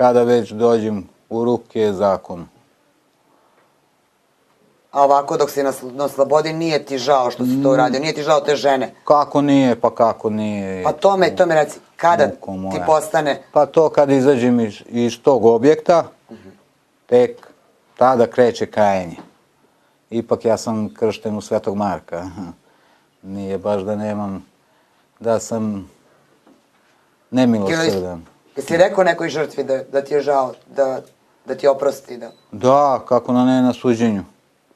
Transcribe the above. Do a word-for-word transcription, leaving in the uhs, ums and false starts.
kada već dođem u ruke zakonu. A ovako dok si na slobodi nije ti žao što si to uradio, nije ti žao te žene? Kako nije, pa kako nije. Pa to me, to me reci, kada ti postane? Pa to kad izađem iz tog objekta, tek tada kreće kajenje. Ipak ja sam kršten u Svetog Marka. Nije baš da nemam, da sam nemilosrdan. Jesi rekao nekoj žrtvi da ti je žao, da ti oprosti? Da, kako na ne na suđenju.